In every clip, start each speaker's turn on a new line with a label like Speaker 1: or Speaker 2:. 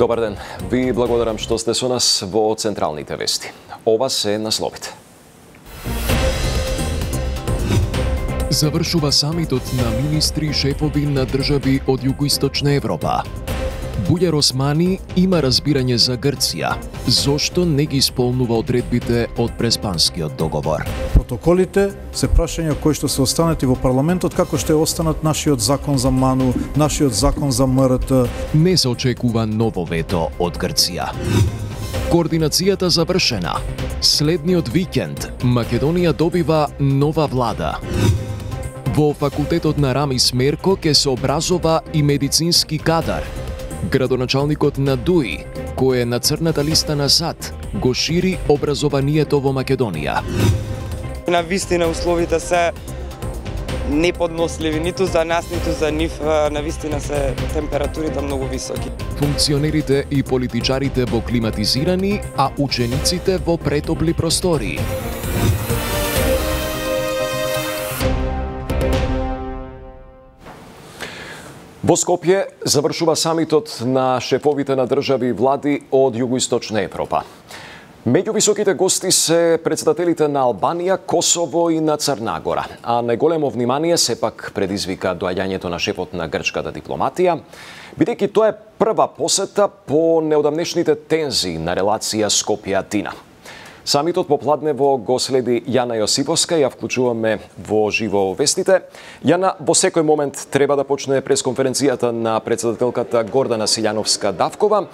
Speaker 1: Добар ден. Ви благодарам што сте со нас во Централните вести. Ова се насловите.
Speaker 2: Завршува самитот на министри и шефови на држави од Југоисточна Европа. Бујар Османи има разбирање за Грција. Зошто не ги исполнува одредбите од Преспанскиот договор?
Speaker 3: Протоколите се прашања кои што се останати во парламентот, како ще останат нашиот закон за МАНУ, нашиот закон за МРТ.
Speaker 2: Не се очекува ново вето од Грција. Координацијата завршена. Следниот викенд Македонија добива нова влада. Во факултетот на Рамис Мерко ќе се образова и медицински кадар. Градоначалникот на ДУИ, кој е на црната листа на САД, го шири образованието во Македонија.
Speaker 4: На вистина условите се неподносливи ниту за нас, ниту за нив, на вистина се температурите многу високи.
Speaker 2: Функционерите и политичарите во климатизирани, а учениците во претопли простории.
Speaker 1: Во Скопје завршува самитот на шефовите на држави и влади од Југоисточна Европа. Меѓу високите гости се председателите на Албанија, Косово и на Црна Гора, а најголемо внимание сепак предизвика доаѓањето на шефот на грчката дипломатија, бидејќи тоа е прва посета по неодамнешните тензии на релација Скопје-Атина. Самитот попладнево го следи Јана Јосиповска, ја вклучуваме во живо вестите. Јана, во секој момент треба да почне пресконференцијата на председателката Гордана Силјановска-Давкова,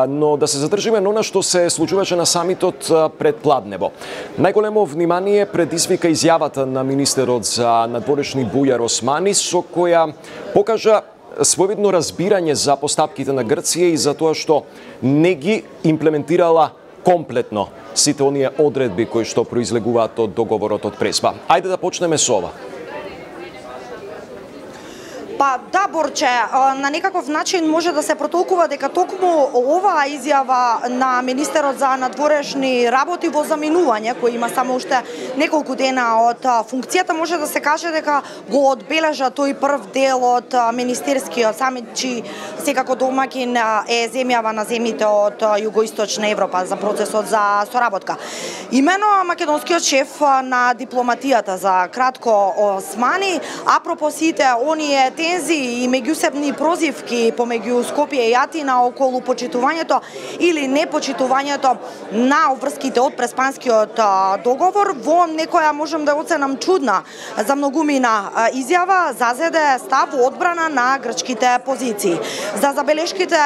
Speaker 1: но да се задржиме на она што се случуваше на самитот предпладнево. Најголемо внимание предизвика изјавата на министерот за надворешни Бујар Османи, со која покажа своевидно разбирање за постапките на Грција и за тоа што не ги имплементирала комплетно сите оние одредби кои што произлегуваат од договорот од Преспа. Ајде да почнеме со ова.
Speaker 5: Па да, Борче, на некаков начин може да се протолкува дека токму оваа изјава на министерот за надворешни работи во заминување, кој има само уште неколку дена од функцијата, може да се каже дека го одбележа тој прв дел од министерскиот самит, чиј секако домакин е земјава на земјите од Југоисточна Европа за процесот за соработка. Имено македонскиот шеф на дипломатијата за кратко Османи, апропо сите оние тензии и меѓусебни прозивки помеѓу Скопје и Атина околу почитувањето или непочитувањето на обврските од Преспанскиот договор, во некоја можам да оценам чудна за многумина изјава зазеде став одбрана на грчките позиции. За забелешките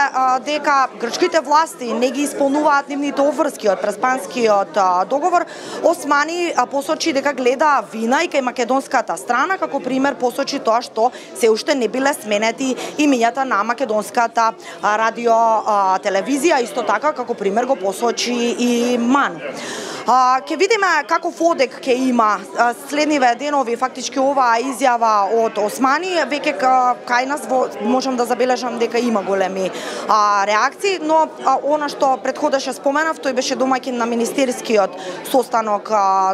Speaker 5: дека грчките власти не ги исполнуваат нивните обврски од Преспанскиот договор, Османи посочи дека гледа вина и кај македонската страна, како пример посочи тоа што се уште не биле сменети имињата на македонската радио телевизија, исто така како пример го посочи и МАН. Ке видиме каков одек ке има следниве денови фактички оваа изјава од Османи, веќе кај нас можам да забележам дека има големи реакции, но она што претходеше споменав, тој беше домаќин на министерскиот состанок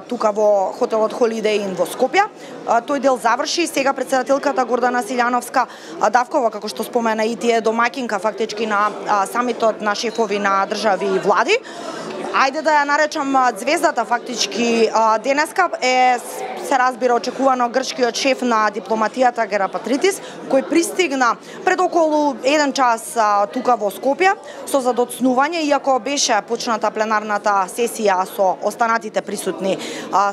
Speaker 5: тука во хотелот Holiday Inn во Скопје. Тој дел заврши, сега председателката Гордана Силјановска-Давкова, како што спомена, и тие домаќинка фактички на самитот на шефови на држави и влади. Ајде да ја наречам звездата фактички денеска се разбира очекувано грчкиот шеф на дипломатијата Герапатритис, кој пристигна пред околу 1 час тука во Скопје со задоцнување, иако беше почната пленарната сесија со останатите присутни,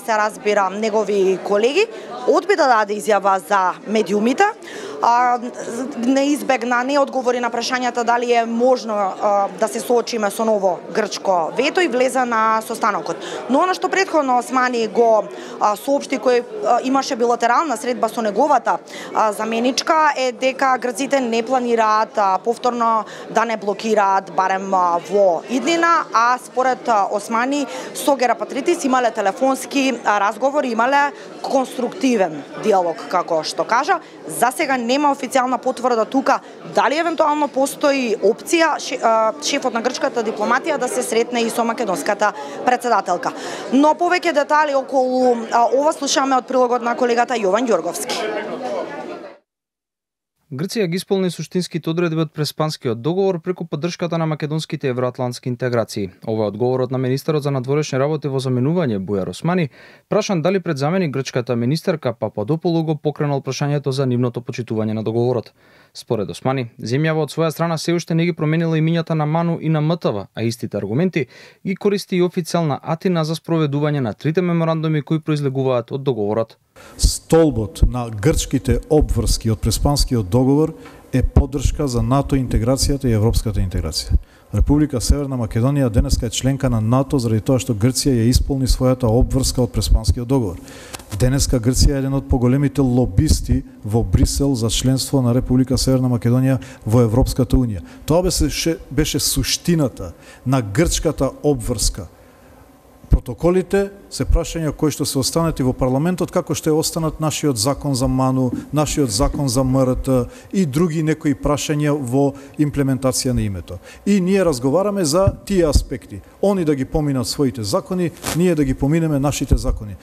Speaker 5: се разбира, негови колеги, одби да даде изјава за медиумите, не избегна, не одговори на прашањата дали е можно да се соочиме со ново грчко вето и влезе на состанокот. Но она што претходно Османи го соопшти, кој имаше билатерална средба со неговата заменичка, е дека грците не планираат повторно да не блокираат барем во иднина, а според Османи со Герапатритис имале телефонски разговори, имале конструктивен диалог, како што кажа. За сега нема официјална потврда тука дали евентуално постои опција шефот на грчката дипломатија да се сретне и со македонската председателка. Но повеќе детали околу ова слушаме од прилогот на колегата Јован Ѓорговски.
Speaker 6: Грција ги исполни суштинските одредби од Преспанскиот договор преку поддршката на македонските евроатлантски интеграции. Ова е одговорот на министерот за надворешни работи во заменување Бујар Османи, прашан дали пред замени грчката министерка Пападополу го покренал прашањето за нивното почитување на договорот. Според Османи, земјава од своја страна се уште не ги променила имињата на МАНУ и на МТВ, а истите аргументи ги користи и официјална Атина за спроведување на трите меморандуми кои произлегуваат од договорот.
Speaker 3: Столбот на грчките обврски од Преспанскиот договор е поддршка за НАТО интеграцијата и европската интеграција. Република Северна Македонија денеска е членка на НАТО заради тоа што Грција ја исполни својата обврска од Преспанскиот договор. Денеска Грција е еден од поголемите лобисти во Брисел за членство на Република Северна Македонија во Европската унија. Тоа беше суштината на грчката обврска. Протоколите се прашања кои што се останати во парламентот, како што е останат нашиот закон за МАНУ, нашиот закон за МРТ и други некои прашања во имплементација на името. И ние разговараме за тие аспекти. Они да ги поминат своите закони, ние да ги поминеме нашите закони.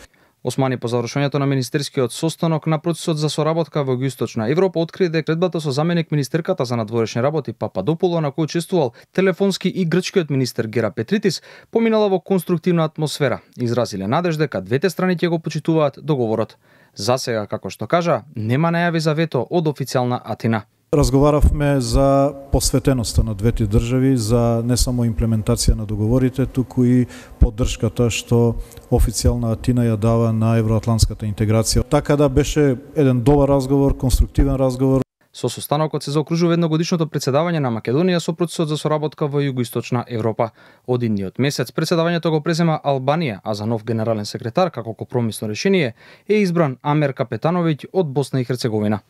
Speaker 6: Османи по завршувањето на министерскиот состанок на процесот за соработка во Југоисточна Европа откри дека средбата со заменик министерката за надворешни работи Пападополу, на кој учествувал телефонски и грчкиот министер Гера Петритис, поминала во конструктивна атмосфера. Изразиле надеж дека двете страни ќе го почитуваат договорот. Засега, како што кажа, нема најави за вето од официјална Атина.
Speaker 3: Разговаравме за посветеноста на двете држави, за не само имплементација на договорите, туку и поддршката што официјална Атина ја дава на евроатлантската интеграција. Така да беше еден добар разговор, конструктивен разговор.
Speaker 6: Со состанокот се заокружува едногодишното претседавање на Македонија со процесот за соработка во Југоисточна Европа. Од идниот месец претседавањето го презема Албанија, а за нов генерален секретар како компромисно решение е избран Амер Капетановиќ од Босна и Херцеговина.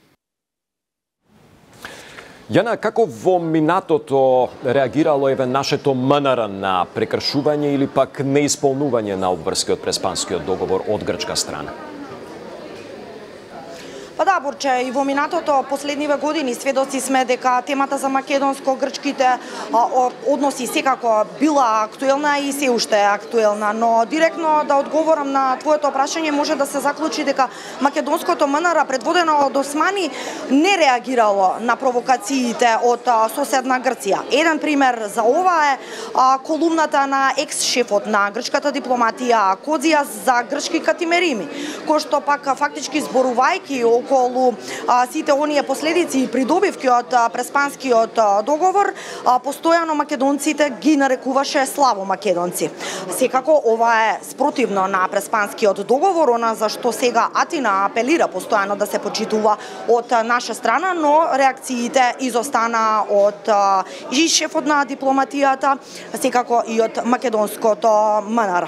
Speaker 1: Јана, како во минатото реагирало нашето МНР на прекршување или пак неисполнување на обврски од Преспанскиот договор од грчка страна?
Speaker 5: Па да, Борче, и во минатото последниве години сведоци сме дека темата за македонско-грчките односи секако била актуелна и се уште е актуелна, но директно да одговорам на твоето прашање може да се заклучи дека македонското МНР предводено од Османи не реагирало на провокациите од соседна Грција. Еден пример за ова е колумната на екс-шефот на грчката дипломатија Кодзија за грчки катимерими, кој што пак фактички зборувајќи околу сите оние последици и придобивки од Преспанскиот договор, постојано македонците ги нарекуваше слабо македонци. Секако ова е спротивно на Преспанскиот договор, она за што сега Атина апелира постојано да се почитува од наша страна, но реакциите изостана од и шефот на дипломатијата, секако и од македонското МНР.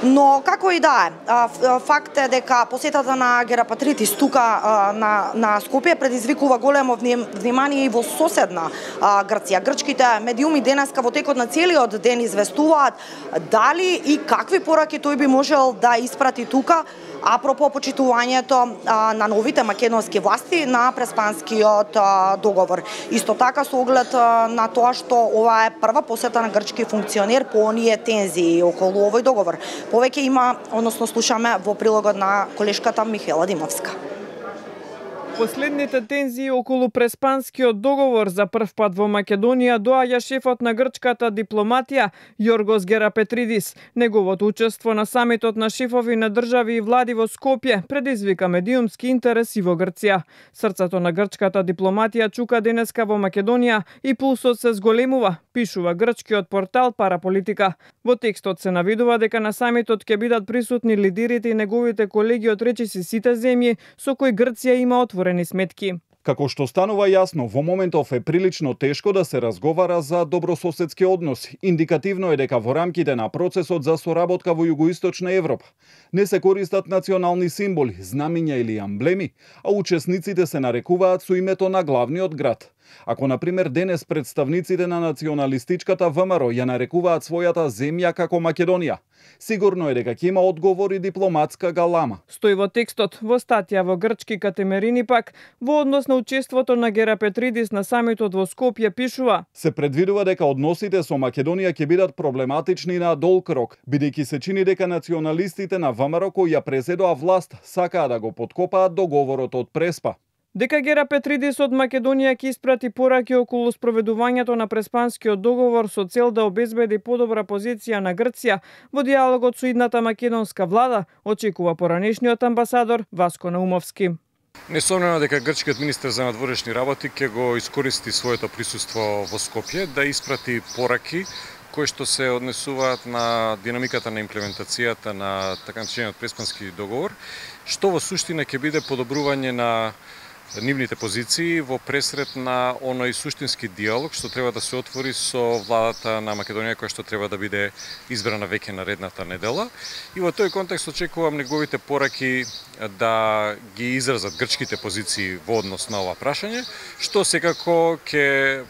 Speaker 5: Но како и да е, факт е дека посетата на Гера Петритис тука на Скопје предизвикува големо внимание и во соседна Грција. Грчките медиуми денеска во текот на целиот ден известуваат дали и какви пораки тој би можел да испрати тука апропо почитувањето на новите македонски власти на Преспанскиот договор. Исто така со оглед на тоа што ова е прва посета на грчки функционер по оние тензии околу овој договор. Повеќе има, односно слушаме во прилогот на колешката Михаела Димовска.
Speaker 7: Последните тензии околу Преспанскиот договор за прв пат во Македонија доаѓа шефот на грчката дипломатија Јоргос Герапетридис. Неговото учество на самитот на шефови на држави и влади во Скопје предизвика медиумски интерес и во Грција. Срцето на грчката дипломатија чука денеска во Македонија и пулсот се зголемува, пишува грчкиот портал Параполитика. Во текстот се навидува дека на самитот ќе бидат присутни лидерите и неговите колеги од речиси сите земји со кои Грција има отворени сметки.
Speaker 8: Како што станува јасно, во моментов е прилично тешко да се разговара за добрососедски односи. Индикативно е дека во рамките на процесот за соработка во Југоисточна Европа не се користат национални символи, знамиња или амблеми, а учесниците се нарекуваат со името на главниот град. Ако, например, денес представниците на националистичката ВМРО ја нарекуваат својата земја како Македонија, сигурно е дека ќе има одговор и дипломатска галама.
Speaker 7: Стои во текстот, во статија во грчки Катемерини пак, во однос на учеството на Герапетридис на самитот во Скопје пишува:
Speaker 8: се предвидува дека односите со Македонија ќе бидат проблематични на долг рок, бидејќи се чини дека националистите на ВМРО кои ја преседоа власт сакаа да го поткопаат договорот од Преспа.
Speaker 7: дека Гера Петридис од Македонија ќе испрати пораки околу спроведувањето на Преспанскиот договор со цел да обезбеди подобра позиција на Грција во диалогот со идната македонска влада, очекува поранешниот амбасадор Васко Наумовски.
Speaker 9: Несомнено дека грчкиот министер за надворешни работи ќе го искористи своето присуство во Скопје да испрати пораки кои што се однесуваат на динамиката на имплементацијата на така наречениот Преспански договор, што во суштина ќе биде подобрување на нивните позиции во пресрет на оној суштински диалог што треба да се отвори со владата на Македонија која што треба да биде избрана веќе наредната недела. И во тој контекст очекувам неговите пораки да ги изразат грчките позиции во однос на ова прашање, што секако ќе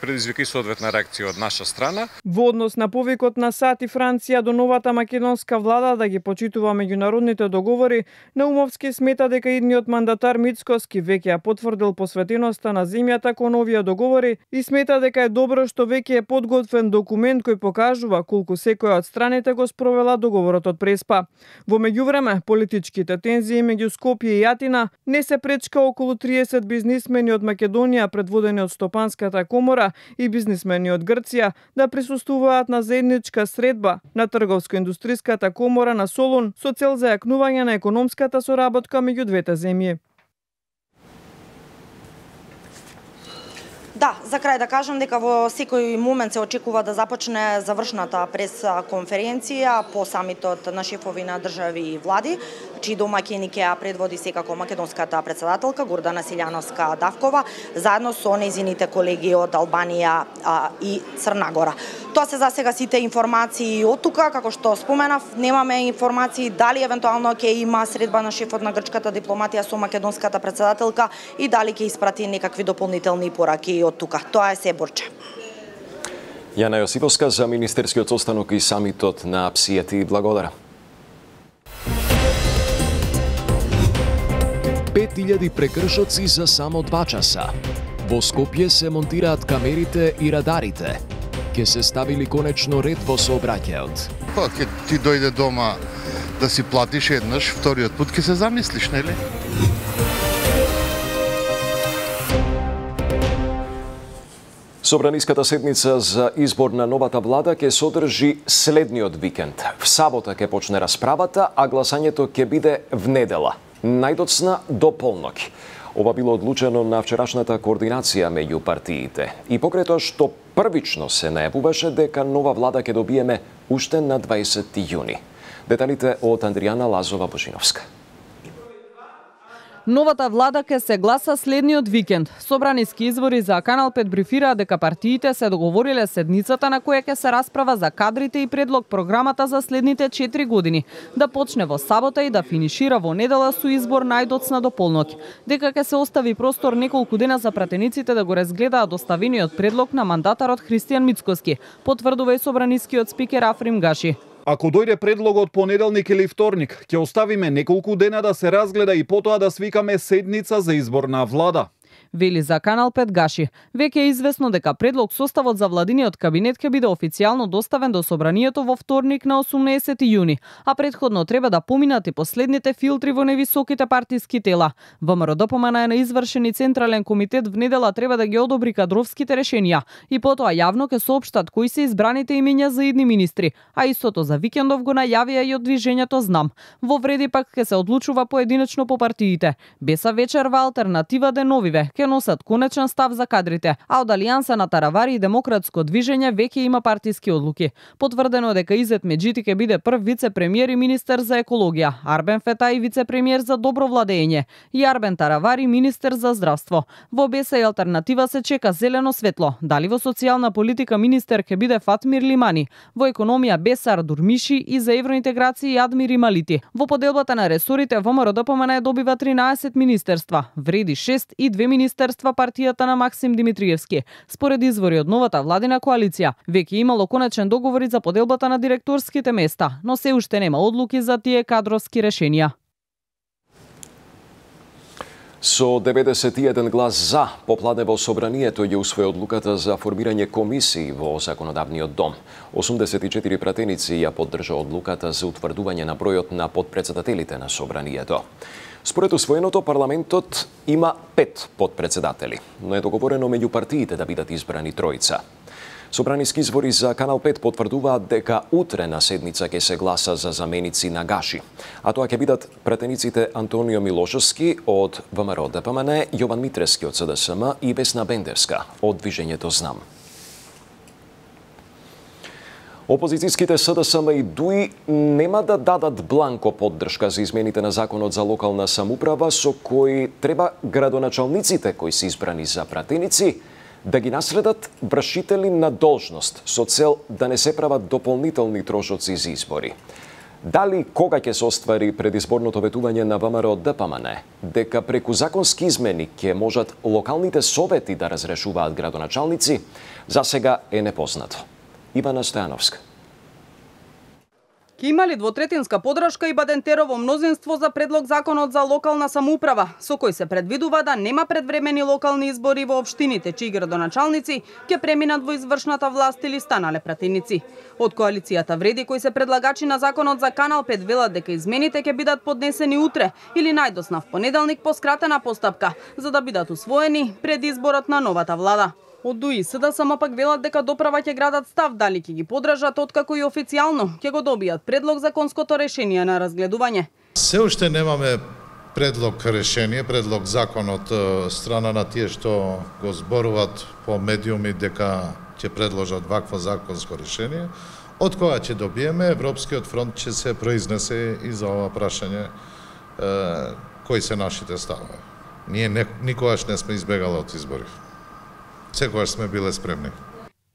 Speaker 9: предизвика и соодветна реакција од наша страна.
Speaker 7: Во однос на повикот на САД и Франција до новата македонска влада да ги почитува меѓународните договори, Наумовски смета дека идниот мандатар Мицкоски веќе ја потврдил посветеноста на земјата кон овие договори и смета дека е добро што веќе е подготвен документ кој покажува колку секоја од страните го спровела договорот од Преспа. Во меѓувреме, политичките тензии меѓу Скопје и Атина не се пречка околу 30 бизнисмени од Македонија предводени од Стопанската комора и бизнисмени од Грција да присуствуваат на заедничка средба на Трговско-индустриската комора на Солун со цел зајакнување на економската соработка меѓу двете земји.
Speaker 5: Да, за крај да кажам дека во секој момент се очекува да започне завршната прес-конференција по самитот на шефови на држави и влади, чии домаќини ќе ја предводи секако македонската председателка Гордана Силјановска-Давкова, заедно со нејзините колеги од Албанија и Црна Гора. Тоа се за сега сите информации од тука, како што споменав, немаме информации дали евентуално ќе има средба на шефот на грчката дипломатија со македонската председателка и дали ќе испрати некакви дополнителни пораки од тука. Тоа е се, Борче.
Speaker 1: Јана Јосиповска за министерскиот состанок и самитот на ПСИЕТ. Благодарам.
Speaker 2: 5000 прекршоци за само 2 часа. Во Скопје се монтираат камерите и радарите. Ке се ставили конечно ред во сообраќајот.
Speaker 10: Па, ке ти дојде дома да си платиш еднаш, вториот пат ке се замислиш, нели?
Speaker 1: Собраниската седница за избор на новата влада ќе содржи следниот викенд. В сабота ќе почне расправата, а гласањето ќе биде в недела, најдоцна до полноќ. Ова било одлучено на вчерашната координација меѓу партиите. И покрај тоа што првично се најавуваше дека нова влада ќе добиеме уште на 20 јуни. Деталите од Андријана Лазова-Божиновска.
Speaker 11: Новата влада ќе се гласа следниот викенд. Собраниски извори за Канал 5 брифираа дека партиите се договориле седницата на која ќе се расправа за кадрите и предлог програмата за следните 4 години, да почне во сабота и да финишира во недела со избор најдоцна до полноќ. Дека ќе се остави простор неколку дена за пратениците да го разгледаат доставениот предлог на мандатарот Христијан Мицкоски, потврдува и собранискиот спикер Африм Гаши.
Speaker 8: Ако дојде предлогот понеделник или вторник, ќе оставиме неколку дена да се разгледа и потоа да свикаме седница за избор на влада.
Speaker 11: Вели за Канал 5 Гаши. Веќе е известно дека предлог составот за владиниот кабинет ќе биде официјално доставен до собранието во вторник на 18 јуни, а претходно треба да поминат и последните филтри во невисоките партиски тела. ВМРО ДПМН е на извршени централен комитет в недела треба да ги одобри кадровските решенија и потоа јавно ќе соопштат кои се избраните имиња за идни министри, а истото за викендов го најавија и од движењето Знам. Во вреди пак ќе се одлучува поединечно по партиите. Беса вечерва алтернатива Деновиве ќе носат конечен став за кадрите, а од Алијанса на Таравари и Демократско движење веќе има партиски одлуки. Потврдено дека Изет Меджити ќе биде прв вице-премиер и министер за екологија, Арбен Фетај вице-премиер за добро владење и Арбен Таравари министер за здравство. Во Беса и алтернатива се чека зелено светло. Дали во социјална политика министер ќе биде Фатмир Лимани, во економија Бесар Дурмиши и за евроинтеграција Адмир Ималити. Во поделбата на ресорите ВМРО ДПМН добива 13 министерства, вреди 6 и 2 министерства партијата на Максим Димитриевски. Според извори од новата владина коалиција, веќе имало конечен договори за поделбата на директорските места, но се уште нема одлуки за тие кадровски решенија.
Speaker 1: Со 91 глас за, попладне во собранието ја усвои одлуката за формирање комисии во Законодавниот дом. 84 пратеници ја поддржа одлуката за утврдување на бројот на подпредседателите на собранието. Според усвоеното, парламентот има 5 подпредседатели, но е договорено меѓу партиите да бидат избрани тројца. Собраниски избори за Канал 5 потврдуваат дека утре на седница ќе се гласа за заменици на Гаши, а тоа ќе бидат пратениците Антонио Милошевски од ВМРО ДПМН, Јован Митрески од СДСМ и Весна Бендерска од Движењето Знам. Опозицијските СДСМ и ДУИ нема да дадат бланко поддршка за измените на Законот за локална самоуправа, со кои треба градоначалниците кои се избрани за пратеници да ги наследат вршители на должност со цел да не се прават дополнителни трошоци за избори. Дали кога ќе се оствари предизборното ветување на ВМРО ДПМН, дека преку законски измени ќе можат локалните совети да разрешуваат градоначалници, за сега е непознато. Ивана Стојановска.
Speaker 11: Ке има ли двотретинска поддршка и Бадентерово мнозинство за предлог законот за локална самоуправа, со кој се предвидува да нема предвремени локални избори во општините, чии градоначалници ќе преминат во извршната власт или станале пратеници. Од коалицијата Вреди, кои се предлагачи на законот за Канал 5, велат дека измените ќе бидат поднесени утре или најдосна в понеделник по скратена постапка, за да бидат усвоени пред изборот на новата влада. Од ДУИ СДСМ пак велат дека доправа ќе градат став дали ќе ги поддржат откако и официјално ќе го добијат предлог законското решение на разгледување.
Speaker 10: Се уште немаме предлог решение, предлог закон од страна на тие што го зборуваат по медиуми дека ќе предложат вакво законско решение. Од кога ќе добиеме, Европскиот фронт ќе се произнесе и за ова прашање кои се нашите ставови. Ние никогаш не сме избегали од избори. Секогаш сме биле спремни.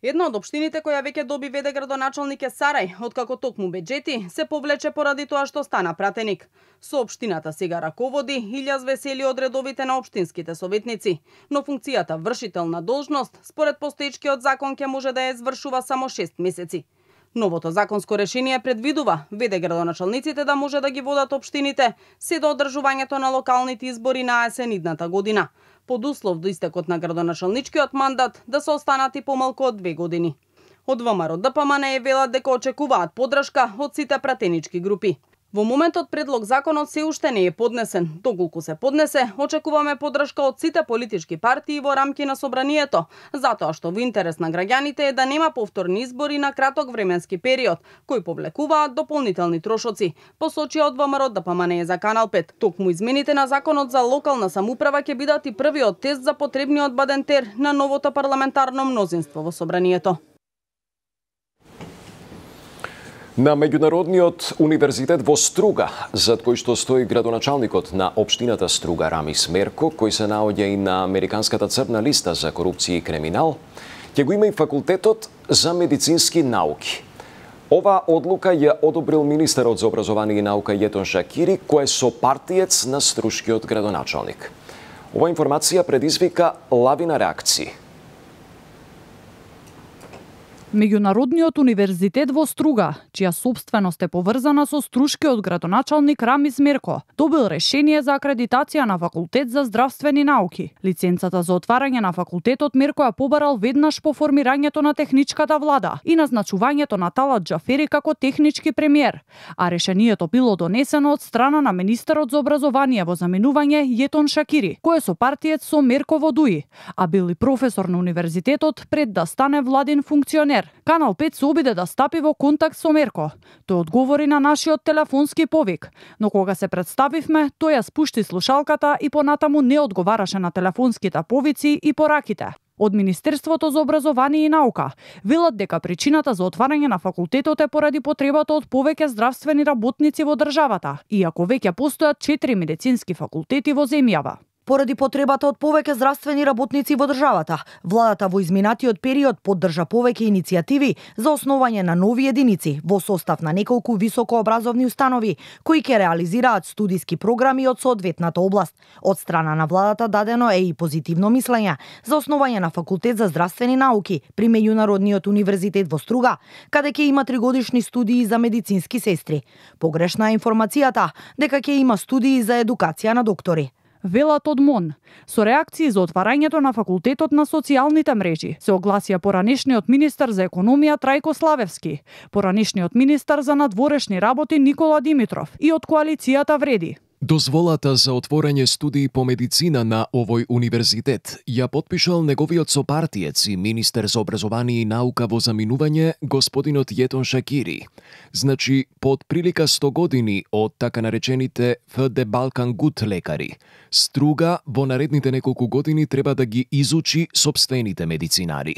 Speaker 11: Една од општините која веќе доби веде градоначалник е Сарај, откако токму беџети се повлече поради тоа што стана пратеник. Со општината сега раководи Илјас Весели од редовите на општинските советници, но функцијата вршител на должност според постоечкиот закон ќе може да ја извршува само 6 месеци. Новото законско решение предвидува веде градоначалниците да може да ги водат општините се до одржувањето на локалните избори на есен идната година, под услов до истекот на градоначалничкиот мандат да се останати помалку од 2 години. Од ВМРО ДПМН велат дека очекуваат поддршка од сите пратенички групи. Во моментот предлог законот се уште не е поднесен. Доколку се поднесе, очекуваме поддршка од сите политички партии во рамки на собранието, затоа што во интерес на граѓаните е да нема повторни избори на краток временски период, кои повлекуваат дополнителни трошоци, посочија од ВМРО ДПМН за Канал 5. Токму измените на законот за локална самоуправа ќе бидат и првиот тест за потребниот бадентер на новото парламентарно мнозинство во собранието.
Speaker 1: На Меѓународниот универзитет во Струга, зад кој што стои градоначалникот на општината Струга Рамис Мерко, кој се наоѓа и на американската црна листа за корупција и криминал, ќе го има и факултетот за медицински науки. Ова одлука ја одобрил министерот за образование и наука Јетон Шакири, кој е сопартиец на струшкиот градоначалник. Ова информација предизвика лавина реакции.
Speaker 11: Меѓународниот универзитет во Струга, чија сопственост е поврзана со струшкиот градоначалник Рамис Мерко, добил решение за акредитација на факултет за здравствени науки. Лиценцата за отварање на факултетот Мерко ја побарал веднаш по формирањето на техничката влада и назначувањето на Талат Џафери како технички премиер, а решението било донесено од страна на министерот за образование во заменување Јетон Шакири, кој е сопартиец со Мерко во ДУИ, а бил и професор на универзитетот пред да стане владин функционер. Канал 5 се обиде да стапи во контакт со Мерко. Тој одговори на нашиот телефонски повик, но кога се представивме, тој ја спушти слушалката и понатаму не одговараше на телефонските повици и пораките. Од Министерството за образование и наука велат дека причината за отварање на факултетот е поради потребата од повеќе здравствени работници во државата, иако веќе постојат 4 медицински факултети во земјава.
Speaker 5: Поради потребата од повеќе здравствени работници во државата, владата во изминатиот период поддржа повеќе иницијативи за основање на нови единици во состав на неколку високообразовни установи кои ќе реализираат студиски програми од соодветната област. Од страна на владата дадено е и позитивно мислење за основање на факултет за здравствени науки при Меѓународниот универзитет во Струга, каде ќе има 3-годишни студии за медицински сестри. Погрешна е информацијата дека ќе има студии за едукација на доктори.
Speaker 11: Велат од МОН. Со реакции за отварањето на факултетот на социјалните мрежи се огласија поранешниот министар за економија Трајко Славевски, поранешниот министар за надворешни работи Никола Димитров и од коалицијата Вреди.
Speaker 2: Дозволата за отворање студии по медицина на овој универзитет ја подпишал неговиот сопартиец и министер за образование и наука во заминување господинот Јетон Шакири. Значи, под прилика 100 години од така наречените ФД Балкан Гуд лекари, Струга во наредните неколку години треба да ги изучи сопствените медицинари.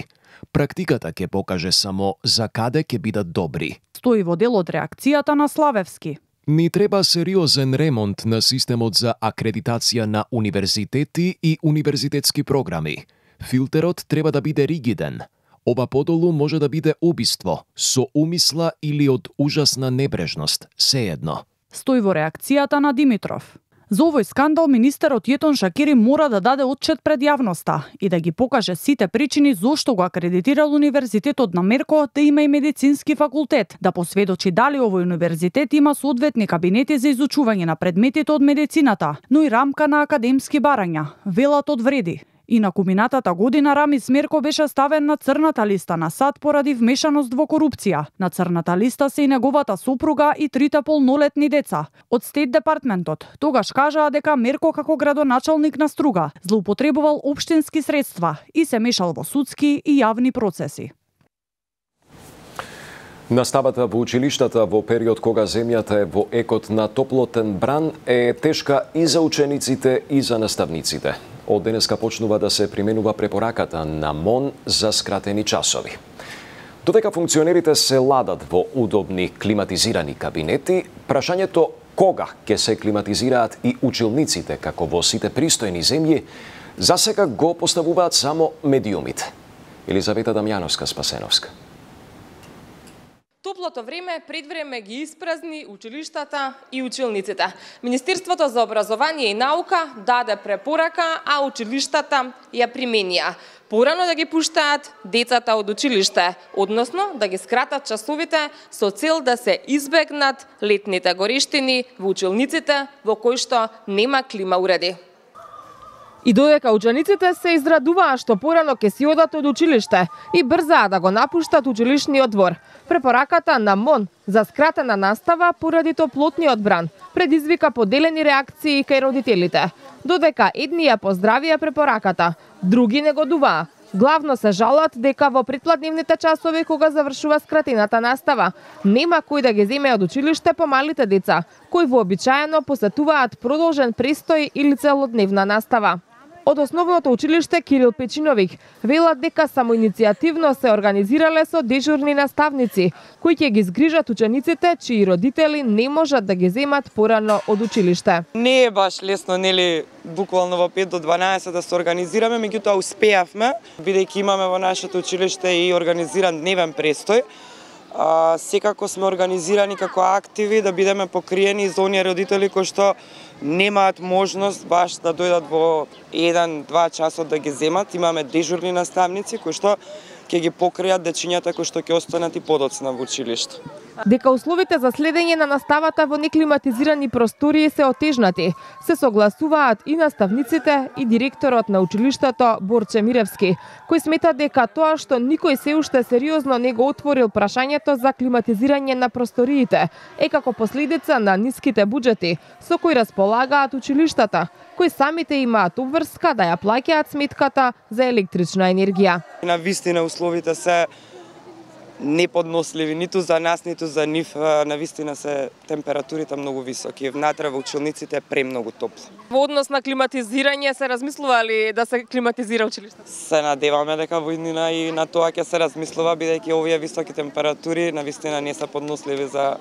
Speaker 2: Практиката ќе покаже само за каде ќе бидат добри.
Speaker 11: Стои во дел од реакцијата на Славевски.
Speaker 2: Ни треба сериозен ремонт на системот за акредитација на универзитети и универзитетски програми. Филтерот треба да биде ригиден. Ова подолу може да биде убиство, со умисла или од ужасна небрежност, сеедно.
Speaker 11: Стои во реакцијата на Димитров. За овој скандал министерот Јетон Шакири мора да даде отчет пред јавноста и да ги покаже сите причини зошто го акредитирал универзитетот на Мерко да има и медицински факултет, да посведочи дали овој универзитет има соодветни кабинети за изучување на предметите од медицината, но и рамка на академски барања, велат од вреди. Инаку минатата година Рамис Мерко беше ставен на црната листа на САД поради вмешаност во корупција. На црната листа се и неговата сопруга и 3 полнолетни деца. Од Стейт департментот тогаш кажаа дека Мерко како градоначалник на Струга злоупотребувал општински средства и се мешал во судски и јавни процеси.
Speaker 1: Наставата во училиштата во период кога земјата е во екот на топлотен бран е тешка и за учениците и за наставниците. Од денеска почнува да се применува препораката на МОН за скратени часови. Додека функционерите се ладат во удобни климатизирани кабинети, прашањето кога ќе се климатизираат и училниците како во сите пристојни земји, засега го поставуваат само медиумите. Елизавета Дамјановска-Спасеновска.
Speaker 12: Топлото време пред време ги испразни училиштата и училниците. Министерството за образование и наука даде препорака, а училиштата ја применија. Порано да ги пуштаат децата од училиште, односно да ги скратат часовите со цел да се избегнат летните горештини во училниците во кои што нема клима уреди. И додека учениците се израдуваа што порано ќе си одат од училиште и брзаа да го напуштат училишниот двор, препораката на МОН за скратена настава поради топлотниот бран предизвика поделени реакции кај родителите. Додека едни ја поздравија препораката, други негодуваа. Главно се жалат дека во предпладневните часови кога завршува скратената настава, нема кој да ги земе од училиште помалите деца, кои вообичаено посетуваат продолжен престој или целодневна настава. Од основното училиште Кирил Печиновик велат дека самоиницијативно се организирале со дежурни наставници, кои ќе ги згрижат учениците чии родители не можат да ги земат порано од училиште.
Speaker 4: Не е баш лесно, нели, буквално во 5 до 12 да се организираме, меѓутоа успеавме, бидејќи имаме во нашето училиште и организиран дневен престој. Секако сме организирани како активи да бидеме покриени за оние родители кои што немаат можност баш да дојдат во 1-2 часот да ги земат. Имаме дежурни наставници кои што ќе ги покријат дечињата кои што ќе останат и подоцна во училиште.
Speaker 12: Дека условите за следење на наставата во неклиматизирани простории се отежнати, се согласуваат и наставниците и директорот на училиштето Борче Миревски, кој смета дека тоа што никој се уште сериозно не го отворил прашањето за климатизирање на просториите е како последица на ниските буџети со кои располагаат училиштата, кои самите имаат обврска да ја плаќаат сметката за електрична енергија.
Speaker 4: На вистина условите се неподносливи ниту за нас, ниту за нив. На вистина се температурите многу високи. Внатре во училниците е премногу топло.
Speaker 12: Во однос на климатизирање се размислува ли да се климатизира училиштето?
Speaker 4: Се надеваме дека во иднина и на тоа ќе се размислува, бидејќи овие високи температури на вистина не се подносливи за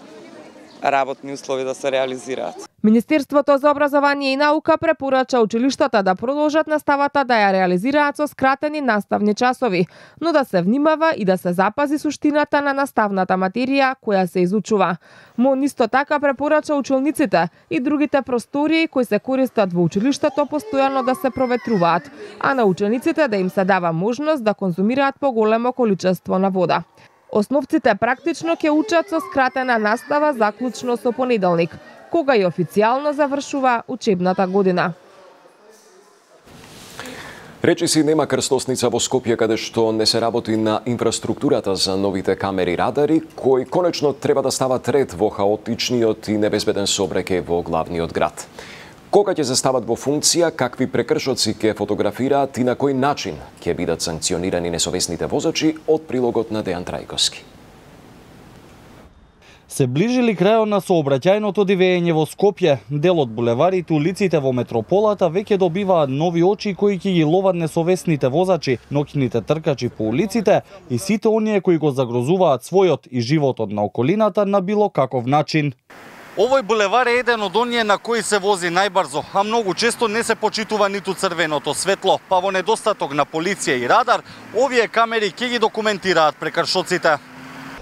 Speaker 4: работни услови да се реализираат.
Speaker 12: Министерството за образование и наука препорача училиштата да продолжат наставата да ја реализираат со скратени наставни часови, но да се внимава и да се запази суштината на наставната материја која се изучува. МОН исто така препорача училниците и другите простории кои се користат во училиштето постојано да се проветруваат, а на учениците да им се дава можност да конзумираат поголемо количество на вода. Основците практично ќе учат со скратена настава заклучно со понеделник, кога и официјално завршува учебната година.
Speaker 1: Речиси нема крстосница во Скопје каде што не се работи на инфраструктурата за новите камери радари, кои конечно треба да стават ред во хаотичниот и небезбеден сообраќај во главниот град. Кога ќе се стават во функција, какви прекршоци ќе фотографираат и на кој начин ќе бидат санкционирани несовесните возачи, од прилогот на Дејан Трајковски.
Speaker 13: Се ближили крајот на сообраќајното дивење во Скопје, дел од булеварите, улиците во метрополата веќе добиваат нови очи кои ќе ги ловат несовесните возачи, ноќните тркачи по улиците и сите оние кои го загрозуваат својот и животот на околината на било каков начин. Овој булевар е еден од оние на кои се вози најбрзо, а многу често не се почитува ниту црвеното светло, па во недостаток на полиција и радар, овие камери ќе ги документираат прекршоците.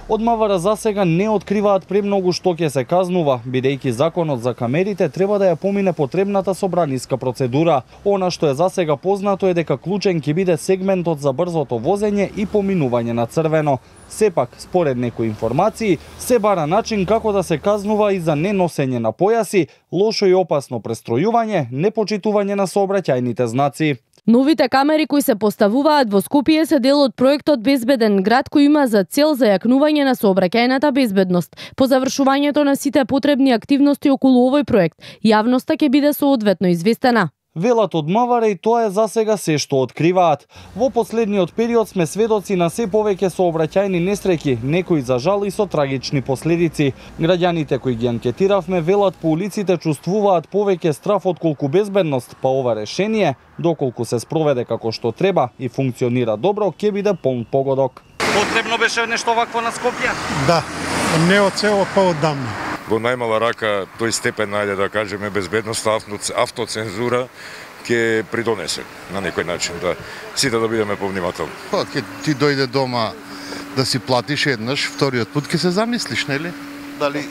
Speaker 13: Од МВР засега не откриваат премногу што ќе се казнува, бидејќи законот за камерите треба да ја помине потребната собраниска процедура. Она што е засега познато е дека клучен ќе биде сегментот за брзото возење и поминување на црвено. Сепак, според некои информации, се бара начин како да се казнува и за неносење на појаси, лошо и опасно престројување, непочитување на сообраќајните знаци.
Speaker 14: Новите камери кои се поставуваат во Скопје се дел од проектот Безбеден град кој има за цел зајакнување на сообраќајната безбедност. По завршувањето на сите потребни активности околу овој проект, јавноста ќе биде соодветно известена.
Speaker 13: Велат од МВР и тоа е засега се што откриваат. Во последниот период сме сведоци на се повеќе сообраќајни несреќи, некои за жал и со трагични последици. Граѓаните кои ги анкетиравме велат по улиците чувствуваат повеќе страф отколку безбедност, па ова решение, доколку се спроведе како што треба и функционира добро, ќе биде полн погодок. Потребно беше нешто вакво на Скопје?
Speaker 15: Да, не од цело, па оддамна.
Speaker 16: Во најмала рака тој степен, ајде да кажеме, безбедност, автоцензура ќе придонесе на некој начин да сите да бидеме повнимателни.
Speaker 17: Па ќе ти дојде дома да си платиш еднаш, вториот пат ќе се замислиш, нели? Дали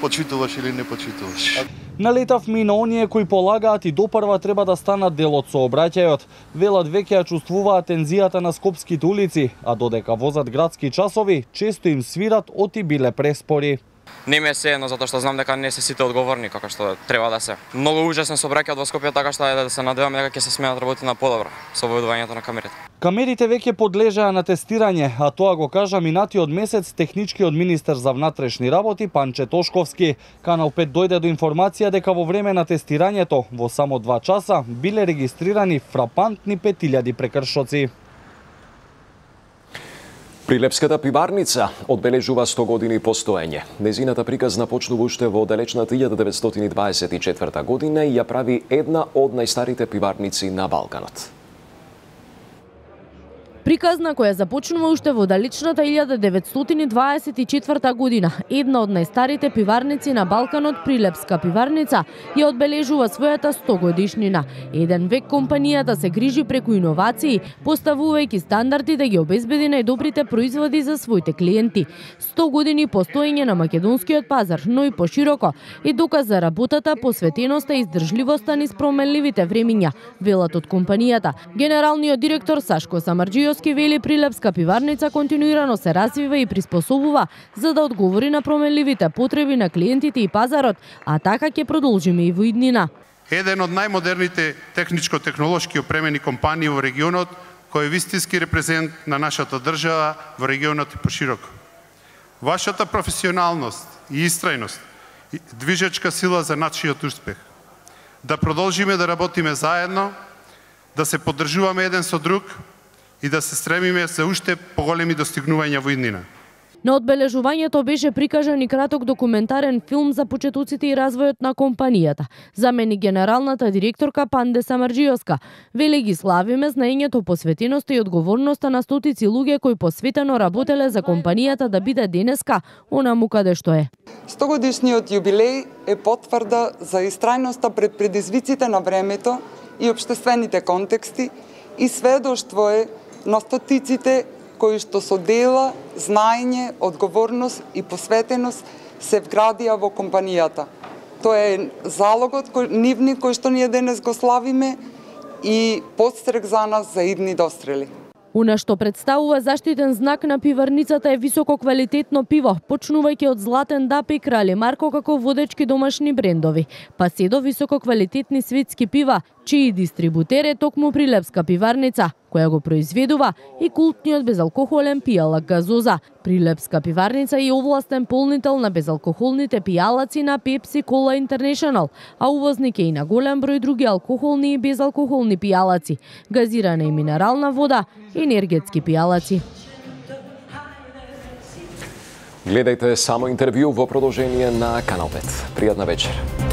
Speaker 17: почитуваш или не почитуваш.
Speaker 13: Налетавме и на оние кои полагаат и допрва треба да станат дел од сообраќајот. Велат веќе ја чувствуваат тензијата на скопските улици, а додека возат градски часови, често им свират оти биле преспори.
Speaker 18: Не ме се едно, затоа што знам дека не се сите одговорни како што треба да се. Многу ужасен сообраќај во Скопје, така што да се надеваме дека ќе се сменат работи на подобро со воведувањето на камерите.
Speaker 13: Камерите веќе подлежаа на тестирање, а тоа го кажа минатиот месец техничкиот министер за внатрешни работи Панче Тошковски. Канал 5 дојде до информација дека во време на тестирањето во само 2 часа биле регистрирани фрапантни 5000 прекршоци.
Speaker 1: Прилепската пиварница одбележува 100 години постоење. Незината приказна почнува уште во далечната 1924 година и ја прави една од најстарите пиварници на Балканот.
Speaker 14: Приказна која започнува уште во далечната 1924 година, една од најстарите пиварници на Балканот, Прилепска пиварница, ја одбележува својата 100 годишнина. Еден век компанијата се грижи преку иновации, поставувајќи стандарди да ги обезбеди најдобрите производи за своите клиенти. 100 години постоење на македонскиот пазар, но и пошироко, е доказ за работата, посветеноста и издржливоста низ променливите времиња, велат од компанијата. Генералниот директор Сашко Самарџијовски вели Прилепска пиварница континуирано се развива и приспособува за да одговори на променливите потреби на клиентите и пазарот, а така ќе продолжиме и во иднина.
Speaker 15: Еден од најмодерните техничко-технолошки опремени компании во регионот, кој е вистински репрезент на нашата држава во регионот и пошироко. Вашата професионалност и истрајност движечка сила за нашиот успех. Да продолжиме да работиме заедно, да се поддржуваме еден со друг и да се стремиме за уште поголеми достигнувања во иднина.
Speaker 14: На одбележувањето беше прикажан и краток документарен филм за почетоците и развојот на компанијата. Замени генералната директорка Панде Самарџијовска. Вели ги славиме знаењето, посветеноста и одговорноста на стотици луѓе кои посветено работеле за компанијата да биде денеска онаму каде што е.
Speaker 19: 100 годишниот јубилеј е потврда за истрајноста пред предизвиците на времето и општествените контексти и сведоштво е на стотиците кои што со дела, знаење, одговорност и посветеност се вградија во компанијата. Тоа е залогот нивни кој што ние денес го славиме и подстрек за нас за идни дострели.
Speaker 14: Она што представува заштитен знак на пиварницата е висококвалитетно пиво, почнувајќи од Златен Дап и Крале Марко како водечки домашни брендови, па се до висококвалитетни светски пива, чиј дистрибутер е токму Прилепска пиварница, која го произведува и култниот безалкохолен пијалак газоза. Прилепска пиварница е овластен полнител на безалкохолните пијалаци на Pepsi Cola International, а увозник е и на голем број други алкохолни и безалкохолни пијалаци, газирана и минерална вода, енергетски пијалаци.
Speaker 1: Гледајте само интервју во продолжение на Канал 5. Пријатна вечер.